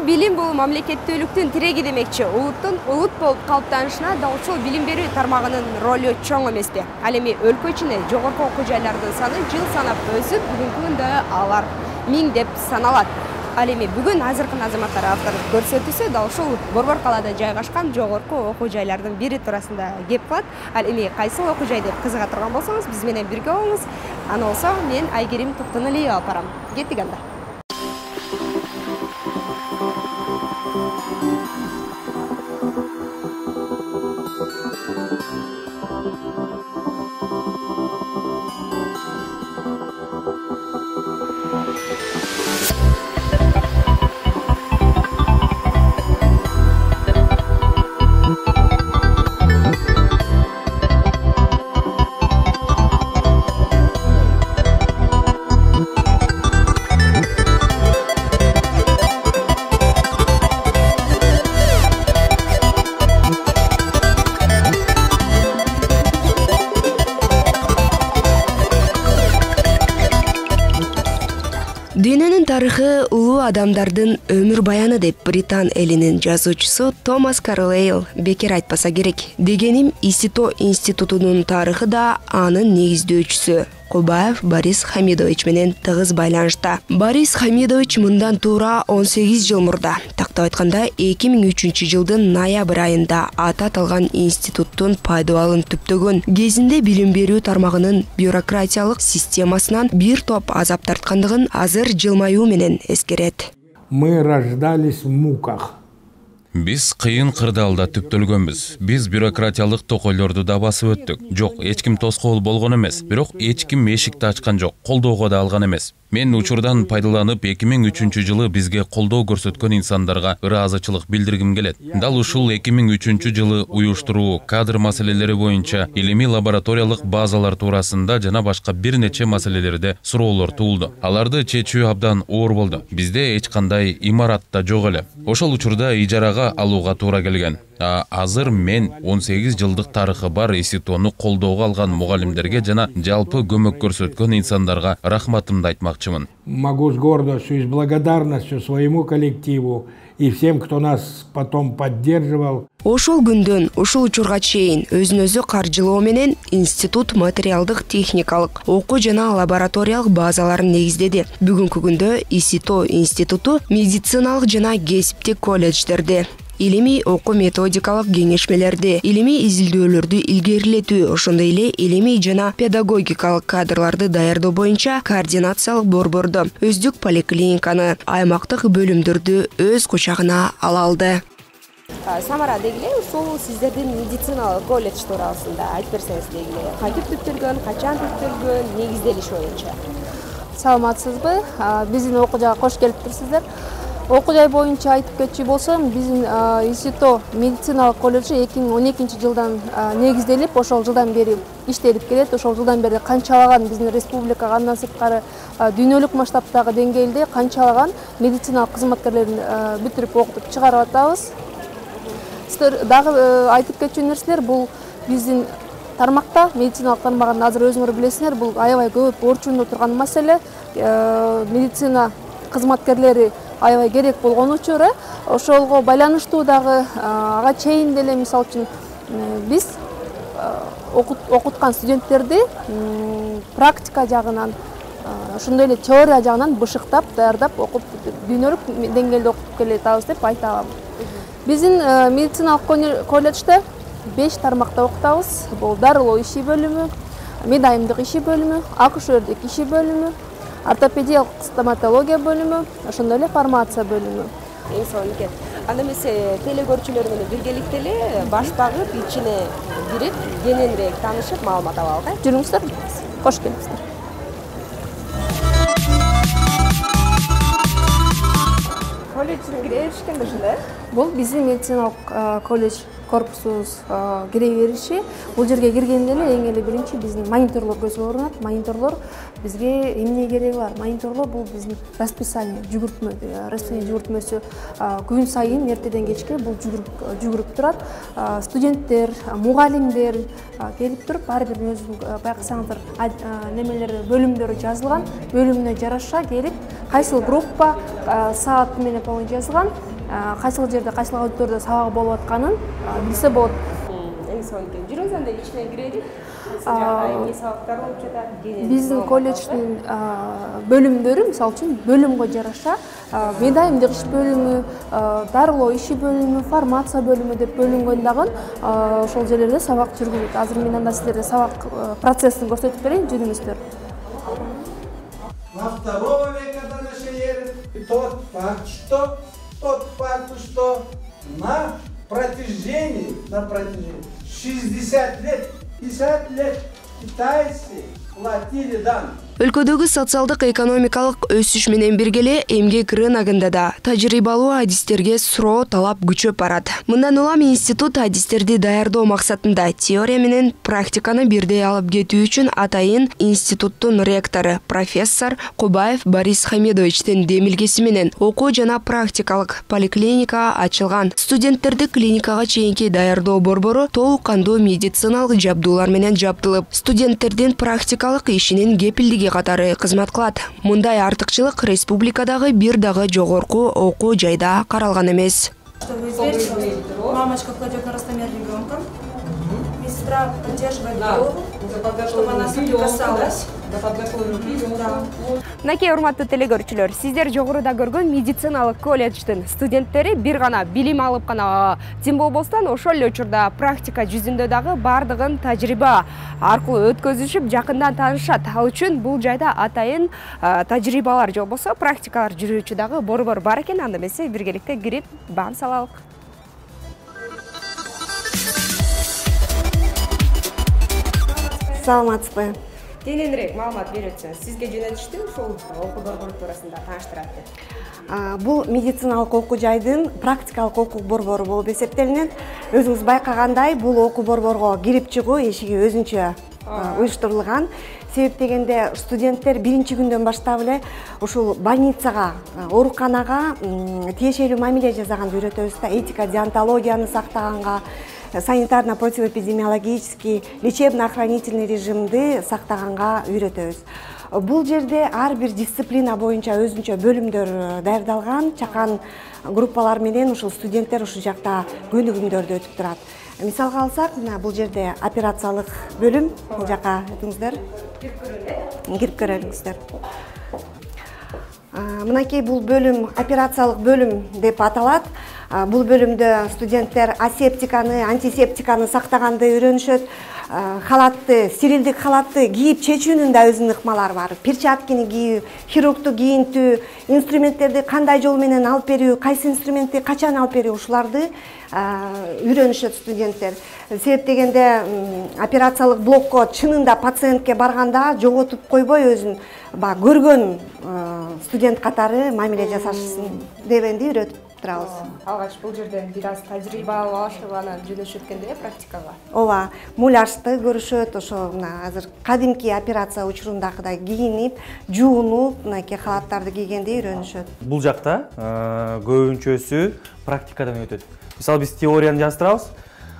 билим бул мамлекеттүүлүктүн тиреги демекчи. Улут болуп калыптанышына да ушул билим берүү тармагынын ролу чоң эмеспи? Ал эми өлкө ичинде жогорку окуу жайлардын саны жыл санап өсүп, бүгүнкү күндө алар 1000 деп саналат. Ал эми бүгүн азыркы азаматтар авторлук көрсөтүүсү да ушул Борбор калаада жайгашкан жогорку окуу жайлардын бири туурасында кеп калат. Ал эми кайсыл окуу жай деп кызыга турган болсоңуз, биз менен бирге болуңуз. Аны болсо мен Айгерим Токтоналиева алып барам. Кеттик анда. Дүйнөнүн тарыхы улуу адамдардын өмүр баяны деп Британ элинин жазуучусу Томас Карлейл бекер айтпаса керек. Дегеним, ИСИТО институтунун тарыхы да анын негиздөөчүсү Кубаев Борис Хамидович менен тыгыз байланышта. Борис Хамидович мындан туура 18 жыл мурда, тактап айтканда 2003 жылдын ноябрь айында аты аталган институттун пайдабалын түптөгөн кезинде билим берүү тармагынын бюрократиялык системасынан бир топ азап тарткандыгын азыр жылмаюу менен эскерет. Мы рождались в муках. Биз кыйын кырдаалда түптөлгөнбүз. Биз бюрократиялык токойлорду да басып өттүк. Жок, эч ким тоскоол болгон эмес. Бирок эч ким эшикти ачкан жок, колдоого да алган эмес. Мен учурдан пайдаланып 2003 жылы бизге колдоо көрсөткөн инсандарга ыраазычылык билдиргим келет. Дал ушул 2003 жылы уюштуруу, кадр маселелери боюнча илимий лабораториялык базалар туурасында жана башка бир нече маселелерде суроолор туулду. Аларды чечүү абдан оор болду. Бизде эч кандай имарат да жок эле. Ошол учурда ижарага алууга туура келген. Азыр мен 18 жылдык тарыхы бар ИСИТОну колдоого алган мугалимдерге жана жалпы көмөк көрсөткөн инсандарга рахматымды айтмакчымын. Могу с гордостью и с благодарностью своему коллективу и всем, кто нас потом поддерживал. Ошол күндөн ушул учурга чейин өзүн-өзү каржылоо менен институт материалдык техникалык окуу жана лабораториялык базаларын негиздеди. Бүгүнкү күндө ИСИТО институту медициналык жана кесиптик колледждерде илимий окуу методикалык кеңешмелерди, илимий изилдөөлөрдү илгерилетүү, ошондой эле илимий жана педагогикалык кадрларды даярдоо боюнча координациялык борборду, өздүк поликлиниканы, аймактык бөлүмдөрдү өз кучагына ала алды. Самара дегиле, ушул сиздердин медициналык колледж туурасында айтып берсеңиз дегиле, кантип түптөлгөн, качан түптөлгөн, негизделиш боюнча? Саламатсызбы? Биздин окуу жайга кош келиптирсиздер. Окуу жай боюнча айтып кетчү болсом, биздин ИСИТО медициналык колледжи 2012 жылдан негизделип, ошол жылдан бери иштелип келет. Ошол жылдан бери канчалаган биздин республикага, андан сырткары дүйнөлүк масштабтагы деңгээлде канчалаган медициналык кызматкерлерин бүтүрүп окутуп чыгарып атабыз. Сиздер дагы айтып кетчү нерселер, бул биздин тармакта, медициналык тармагын азыр өзүңөр билесиңер, бул аябай көп орчундо турган маселе. Медицина кызматкерлери аябай керек болгон учур, ошолго байланыштуу дагы ага чейин деле мисалы үчүн биз окуткан студенттерди практика жагынан, ошондой эле теория жагынан бышыктап, даярдап окуп дүйнөлүк деңгээлде окуп келатабыз деп айта алам. Биздин медициналык колледжде 5 тармакта окутабыз. Бул дарылоо иши бөлүмү, медайымдык иши бөлүмү, акушердик иши бөлүмү, ортопедиялык стоматология бөлүмү, ошондой эле фармация бөлүмү. Эң сонун экен. Анда эмесе теле көрүүчүлөр менен биргеликте эле баш багып, ичине кирип, кененирээк таанышып, маалымат алалы. Жүрүңүздөр, кош келипсиздер. Колледжге кире беришкен ушундай? Бул биздин медициналык колледж корпусубуз кире бериши. Бул жерге киргенде эле эң эле биринчи биздин мониторлор көзгө көрүнөт. Мониторлор бизге эмне кереги бар? Мониторлор бул биздин расписание, жүгүртмөсү күн сайын эртеден кечке бул жүгүрүп турат. Студенттер, мугалимдер келип туруп, ар бир өзүнүн байкасаңыздар немелери, бөлүмдөрү жазылган, бөлүмүнө жараша келип, кайсыл группа, саат менен жазылган, кайсыл жерде кайсыл аудиторияда сабак болуп атканын билсе болот. Жүрөбүз анда ичине кирелик. Эмне сабактар болуп жатат? Биздин колледждин бөлүмдөрү мисалы үчүн бөлүмгө жараша медайымдык иш бөлүмү, дарылоо иши бөлүмү, фармация бөлүмү деп бөлүнгөн дагы ошол жерлерде сабак жүргүзөт. Азыр мен анда силерге сабак процессин көрсөтүп берейин, жүрүңүздөр. На второго века до нашей эры тот факт, что на протяжении 60 лет, 50 лет китайцы платили дан. Өлкөдөгү социалдык экономикалык өсүш менен бирге эле эмгек рыногунда да тажрыйбалуу адистерге суроо талап күчөп барат. Мындан улам институт адистерди даярдоо максатында теория менен практиканы бирдей алып кетүү үчүн атайын институттун ректору профессор Кубаев Борис Хамедовичтин демилгеси менен окуу жана практикалык поликлиника ачылган. Студенттерди клиникага чейинки даярдоо борбору толук кандуу медициналык жабдуулар менен жабдылып, студенттердин практикалык ишинин кепилдиги катары кызмат кылат. Мындай артыкчылык республикадагы бир дагы жогорку окуу жайда каралган эмес. Мамочка кладет на ростомер ребенка. Медсестра поддерживает голову, чтобы она соприкасалась. Мынакей урматтуу телекөрүүчүлөр, сиздер жогоруда көргөн медициналык колледждин студенттери бир гана билим алып гана тим болбостон ошол эле учурда практика жүзүндө дагы бардыгын тажрыйба аркылуу өткөзүшүп, жакындан таанышат. Ал үчүн бул жайда атайын тажрыйбалар же болбосо практикалар жүрүүчү дагы борбор бар экен. Анда эмесе биргеликте кирип баам салалык. Саламатсызбы? Кененирээк маалымат берип өтсөңүз. Сизге жөнөтүштү ушул окуу борбору туурасында тааныштырат деп. Бул медициналык окуу жайдын практикалык окуу борбору болуп эсептелинет. Өзүңүз байкагандай, бул окуу борборго кирип чыгуу эшиги өзүнчө уюштурулган. Себеп дегенде студенттер биринчи күндөн баштап эле ушул больницага, ооруканага тиешелүү мамиле жасаганды үйрөтөбүз да, этика, деонтологияны сактаганга, санитарно-противоэпидемиологический, лечебно-охранительный режимди сактаганга үйрөтөбүз. Бул жерде ар бир дисциплина боюнча өзүнчө бөлүмдөр даярдалган, чакан группалар менен ушул студенттер ушул жакта көнүгүмдөрдү өтүп турат. Мисалга алсак, мына бул жерде операциялык бөлүм, бул жака өтүңүздөр. Кирип көрөңүздөр. Мынакей бул бөлүм операциялык бөлүм деп аталат. Бул бөлүмдө студенттер асептиканы, антисептиканы сактаганды үйрөнүшөт. Халатты, стерилдик халатты кийип чечүүнүн да өзүнүн ыкмалары бар. Перчаткини кийүү, хирургду кийинтүү, инструменттерди кандай жол менен алып берүү, кайсы инструментти качан алып берүү, ушуларды үйрөнүшөт студенттер. Себеп дегенде операциялык блокко чынында пациентке барганда жоготуп койбой өзүн көргөн студент катары мамиле жасашсын дегенди үйрөтүп турабыз. Алгач бул жерден бир аз тажрыйба алышып анан жөнөшөт экенде практикага. Ооба, муляжды көрүшөт, ошо мына азыр кадимки операция учурундагыдай кийинип, жуунуп, мынакей халаттарды кийгенди үйрөнүшөт. Бул жакта көбүнчөсү практикадан өтөт. Мисалы биз теорияны жаздырабыз.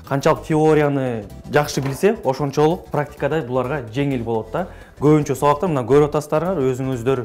Канчалык теорияны жакшы билсе, ошончолук практикада буларга жеңил болот да. Көбүнчө сабактар мына көрүп атасыздар, өзүңүздөр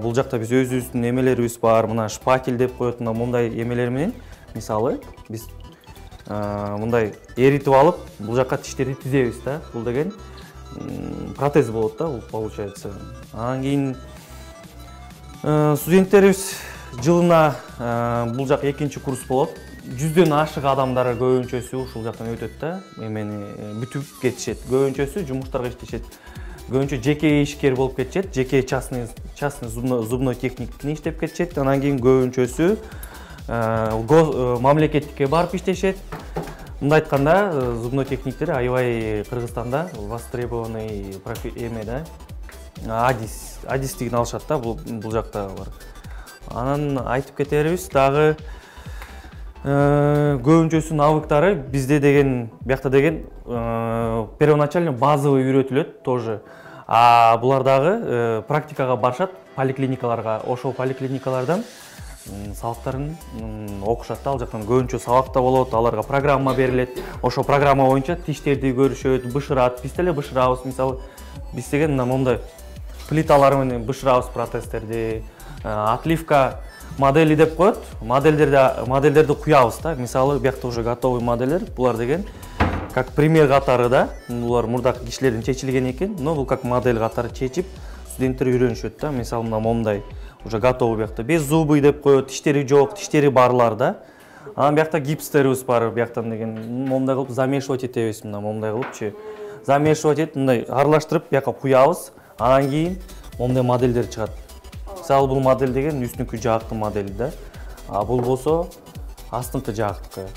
бул жакта биз өзүбүздүн эмелерибиз бар, мына шпатель деп коет, мына мындай эмелер менен мисалы биз мындай эритип алып, бул жакка тиштерди тизебиз да. Бул деген протез болот да, бул получается. Анан кийин студенттерибиз жылына бул жак экинчи курс болот. 100дөн ашык адамдар көбүнчөсү ушул жактан өтөт да, эмени бүтүп кетишет. Көбүнчөсү жумуштарга иштешет. Көбүнчө жеке ишкер болуп кетишет, жеке частный зубной техникни иштеп кетишет. Анан кийин көбүнчөсү мамлекетке барып иштешет. Мындай айтканда, зубной техниктер аябай Кыргызстанда востребованный эме да. Адистигин алышат да, бул жакта бар. Анан айтып кетерибиз дагы көбүнчөсү навыктары бизде деген, биякта деген первоначально базовый үйрөтүлөт тоже. А булар дагы практикага барышат поликлиникаларга. Ошол поликлиникалардан сабактарын окушат да, ал жактан көбүнчө сабакта болот, аларга программа берилет. Ошол программа боюнча тиштерди көрүшөт, бышырат, биз деле бышырабыз. Мисалы, биз деген мондай плиталар менен бышырабыз протезтерди, отливка модели деп коет. Модельдерди куябыз да. Мисалы, биякта уже готовый модельдер. Булар деген как пример катары да. Булар мурдакы кишилерден чечилген экен, но бул как модель катары чечип студенттер үйрөнүшөт да. Мисалы, мына момундай уже готовый биякта. Без зубы деп коет, тиштери жок, тиштери барлар да. Анан биякта гипстерибиз бар, бияктан деген момундай кылып замешивать этебиз, мына момундай кылыпчы. Замешивать этип, мындай аралаштырып биякка куябыз. Анан кийин момундай модельдер чыгат. Мисалы, бул модель деген үстүнкү жаактын модели да. А бул болсо астыңкы жаактыкы.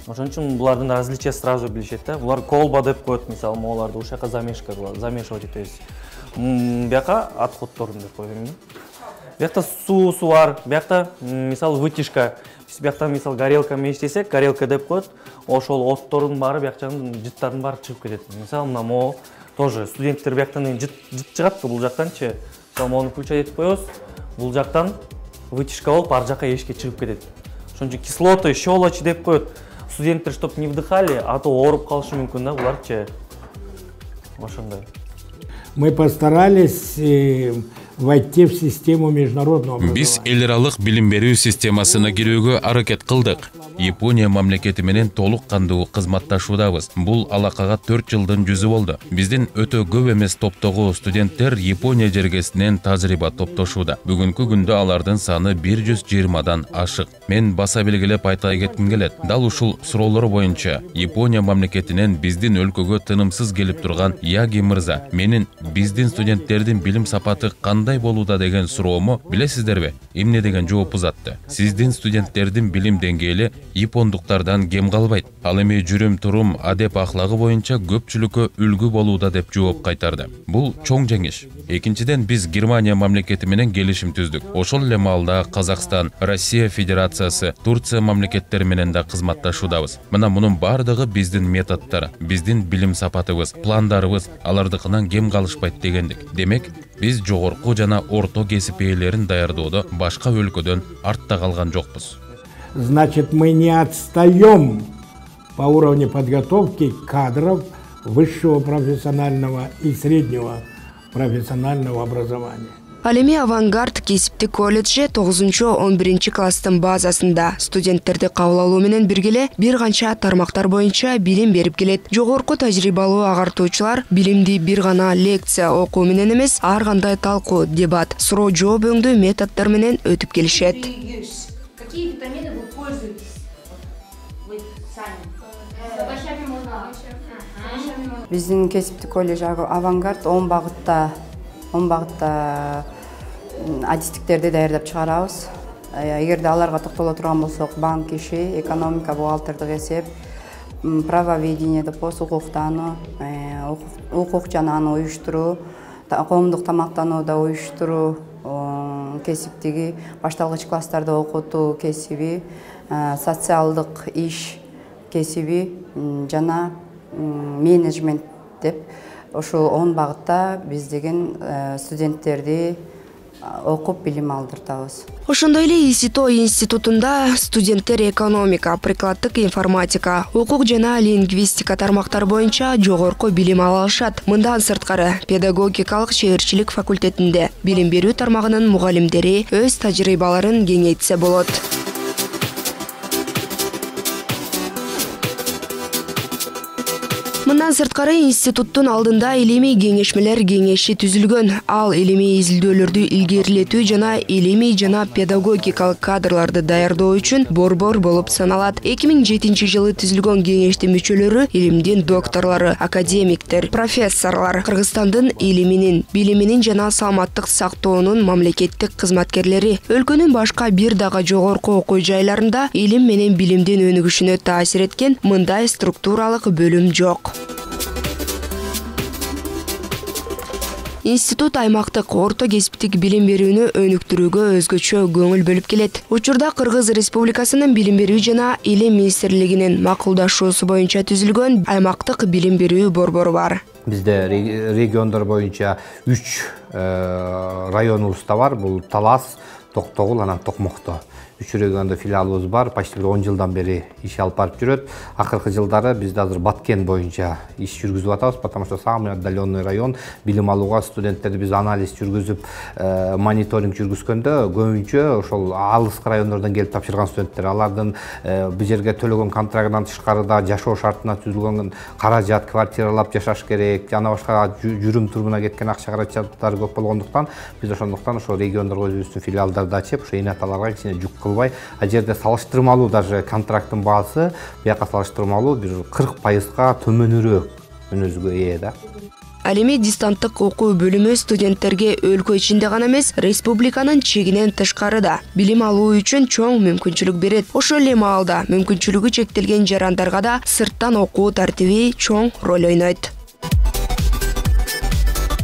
Ошон үчүн булардын различия сразу билишет да. Булар колба деп коет, мисалы, могуларды ушул жака замешка кылабыз, замешивать этебиз. Бияка отходторун деп коем. Биякта суусу бар, биякта мисалы вытяжка. Биз бияктан мисалы горелка мештесек, горелка деп коет. Ошол оттордун баары биякчанын жыттардын баары чыгып кетет. Мисалы, мына могу тоже студенттер бияктан жыт чыгат бул жактанчы. Мисалы, могуну включать этип коебуз. Бул жактан вытяжка болуп ар жака эшикке чыгып кетет. Ошон үчүн кислоты, щелочи деп коет. Студенттер чтоб не вдыхали, а то ооруп калышы мүмкүн да буларчы. Ошондой. Мы постарались войти в систему международного образования. Биз эл аралык билим берүү системасына кирүүгө аракет кылдык. Япония мамлекети менен толук кандуу кызматташуудабыз. Бул алакага 4 жылдын жүзү болду. Биздин өтө көп эмес топтогу студенттер Япония жергесинен тажрыйба топтошууда. Бүгүнкү күндө алардын саны 120дан ашык. Мен баса белгилеп айта кетким келет. Дал ушул суроолор боюнча Япония мамлекетинен биздин өлкөгө тынымсыз келип турган Яги мырза, менин биздин студенттердин билим сапаты кандай болууда деген суроому билесиздерби? Эмне деген жооп узатты. Сиздин студенттердин билим деңгээли япондуктардан кем калбайт. Ал эми жүрүм турум, адеп ахлагы боюнча көпчүлүккө үлгү болууда деп жооп кайтарды. Бул чоң жеңиш. Экинчиден, биз Германия мамлекети менен келишим түздүк. Ошол эле маалда Казакстан, Россия Федерациясы, Турция мамлекеттери менен да кызматташуудабыз. Мына мунун бардыгы биздин методдор, биздин билим сапатыбыз, пландарыбыз алардыкынан кем калышпайт дегендик. Демек, биз жогорку жана орто кесип ээлерин даярдоодо башка өлкөдөн артта калган жокпуз. Значит, мы не отстаем по уровню подготовки кадров высшего профессионального и среднего профессионального образования. Ал эми Авангард кесиптик колледжи 9-11 класстын базасында студенттерди кабыл алуу менен бирге бир канча тармактар боюнча билим берип келет. Жогорку тажрыйбалуу агартуучулар билимди бир гана лекция окуу менен эмес, ар кандай талкуу, дебат, суроо жооп өңдүү методдор менен өтүп келишет. Какие витамины вы пользуетесь? Вы сами? С овощами можно? Биздин кесиптик колледж Авангард 10 багытта адистиктерди даярдап чыгарабыз. Эгерде аларга токтоло турган болсок, банк иши, экономика, бухгалтердик эсеп, правоведение деп коебуз, укуктануу, укук жана аны уюштуруу, коомдук тамактануууда уюштуруу кесиптиги, башталгыч класстарда окутуу кесиби, социалдык иш кесиби жана менеджмент деп ошол 10 багытта биз деген студенттерди окуп билим алдыртабыз. Ошондой эле ИСИТО институтунда студенттер экономика, прикладдык информатика, укук жана лингвистика тармактары боюнча жогорку билим ала алышат. Мындан сырткары, педагогикалык шээрчилик факультетинде билим берүү тармагынын мугалимдери өз тажрыйбаларын кеңейтсе болот. Мындан сырткары институттун алдында илимий кеңешмелер кеңеши түзүлгөн. Ал илимий изилдөөлөрдү илгерилетүү жана илимий жана педагогикалык кадрларды даярдоо үчүн борбор болуп саналат. 2007 жылы түзүлгөн кеңештин мүчөлөрү илимдин докторлору, академиктер, профессорлор, Кыргызстандын илиминин, билиминин жана саламаттык сактоонун мамлекеттик кызматкерлери. Өлкөнүн башка бир дагы жогорку окуу жайларында илим менен билимдин өнүгүшүнө таасир эткен мындай структуралык бөлүм жок. Институт аймактык орто кесиптик билим берүүнү өнүктүрүүгө өзгөчө көңүл бөлүп келет. Учурда Кыргыз Республикасынын билим берүү жана илим министрлигинин макулдашуусу боюнча түзүлгөн аймактык билим берүү борбору бар. Бизде региондор боюнча 3 районубузда бар. Бул Талас, Токтогул, анан Токмокто. 3 региондо филиалыбыз бар. Почти 10 жылдан бери иш алып барып жүрөт. Акыркы жылдары биз азыр Баткен боюнча иш жүргүзүп атабыз, потому что самый отдаленный район. Билим алууга студенттерди биз анализ жүргүзүп, мониторинг жүргүзгөндө көбүнчө ошол алыскы райондордон келип тапшырган студенттер. Алардын бул жерге төлөгөн контрактынан тышкарыда жашоо шартына түзүлгөн каражат, квартиралап жашаш керек, жана башка жүрүм турумуна кеткен акча каражаттары көп болгондуктан биз ошондуктан ошо региондорго өзүбүздүн филиалдарды ачып, ошо энаталарга кичине жүк кылбай, а жерде салыштырмалуу даже контракттын баасы бияка салыштырмалуу бир 40%га төмөнүрөөк мүнөзгө ээ да. Ал эми дистанттык окуу бөлүмү студенттерге өлкө ичинде гана эмес, республиканын чегинен тышкарыда билим алуу үчүн чоң мүмкүнчүлүк берет. Ошол эле маалда мүмкүнчүлүгү чектелген жарандарга да сырттан окуу тартиби чоң роль ойнойт.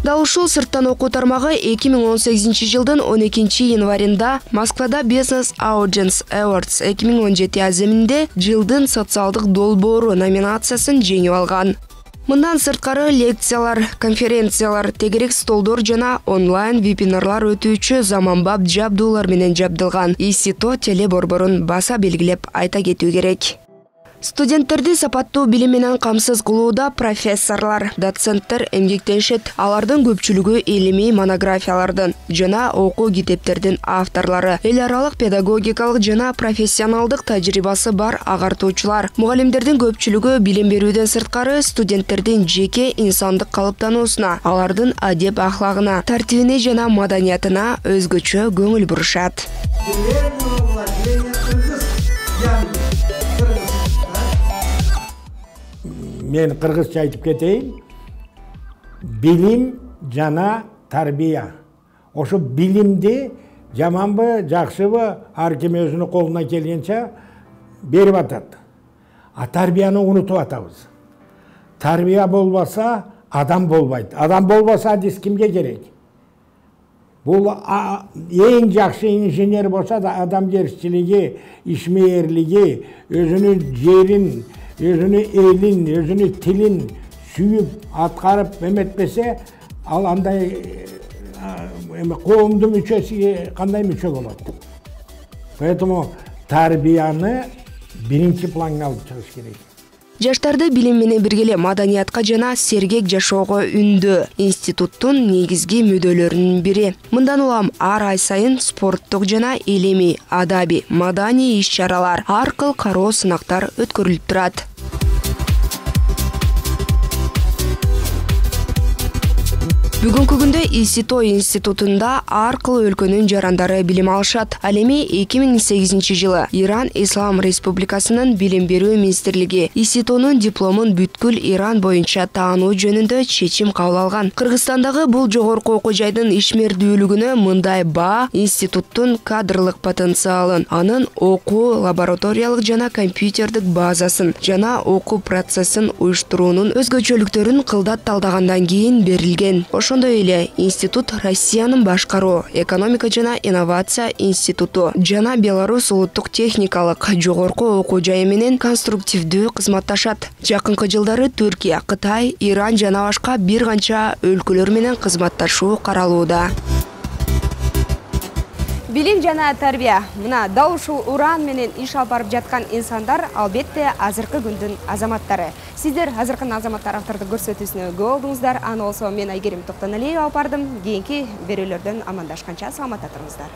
Дал ушул сырттан окуу тармагы 2018 жылдын 12 январында Москвада Business Audience Awards 2017 аземинде жылдын социалдык долбоору номинациясын жеңип алган. Мындан сырткары лекциялар, конференциялар, тегерек столдор жана онлайн вебинарлар өтүүчү заманбап жабдуулар менен жабдылган. ИСИТО телеборборун баса белгилеп айта кетүү керек. Студенттерди сапаттуу билим менен камсыз кылууда профессорлор, доценттер эмгектенишет. Алардын көпчүлүгү илимий монографиялардын жана окуу китептердин авторлору, эл аралык педагогикалык жана профессионалдык тажрыйбасы бар агартуучулар. Мугалимдердин көпчүлүгү билим берүүдөн сырткары студенттердин жеке инсандык калыптануусуна, алардын адеп ахлагына, тартибине жана маданиятына өзгөчө көңүл бурушат. Мен кыргызча айтып кетейин. Билим жана тарбия. Ошо билимди жаманбы, жакшыбы ар ким өзүнүн колуна келгенче берип атат. А тарбияны унутуп атабыз. Тарбия болбаса адам болбойт. Адам болбаса адис кимге керек? Бул эң жакшы инженер болса да адамгерчилиги, ишмээрлиги, өзүнүн жерин, өзүнүн элин, өзүнүн тилин сүйүп, аткарып эметпесе, ал андай коомдун мүчөсү кандай мүчө болот. Поэтому тарбияны биринчи планга алып чыгыш керек. Жаштарды билим менен бирге маданиятка жана сергек жашоого үндөө институттун негизги мүдөлөрүнүн бири. Мындан улам ар ай сайын спорттук жана илимий, адабий, маданий иш-чаралар, ар кыл кароо сынактар өткөрүлүп турат. Бүгүнкү күндө ИСИТО институтунда ар кыл өлкөнүн жарандары билим алышат. Ал эми 2008 жылы Иран Ислам Республикасынын билим берүү министрлиги ИСИТОнун дипломун бүткүл Иран боюнча таануу жөнүндө чечим кабыл алган. Кыргызстандагы бул жогорку окуу жайдын ишмердүүлүгүнө мындай баа институттун кадрлык потенциалын, анын окуу лабораториялык жана компьютердик базасын жана окуу процессин уюштуруунун өзгөчөлүктөрүн кылдат талдагандан кийин берилген. Ошондой эле институт Россиянын башкаруу, экономика жана инновация институту жана Беларусь улуттук техникалык жогорку окуу жайы менен конструктивдүү кызматташат. Жакынкы жылдары Түркия, Кытай, Иран жана башка бир канча өлкөлөр менен кызматташуу каралууда. Билим жана тарбия мына дал ушул уран менен иш алып барып жаткан инсандар албетте азыркы күндүн азаматтары. Сиздер азыркы азаматтар автордук көрсөтүүсүнө көп болдуңуздар. Аны болсо мен Айгерим Токтоналиева алып бардым. Кийинки берүүлөрдөн амандашканча саламатта туруңуздар.